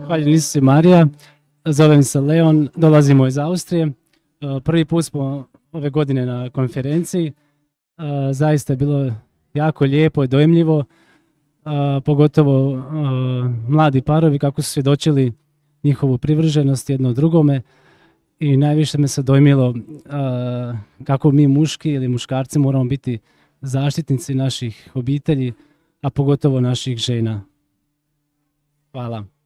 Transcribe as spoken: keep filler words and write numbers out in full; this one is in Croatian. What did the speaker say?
Zahvaljujem Isusu i Marija. Zovem se Leon, dolazimo iz Austrije. Prvi put smo ove godine na konferenciji. Zaista je bilo jako lijepo i dojmljivo, pogotovo mladi parovi kako su svjedočili njihovu privrženost jedno drugome. I najviše me se dojmilo kako mi muški ili muškarci moramo biti zaštitnici naših obitelji, a pogotovo naših žena. Hvala.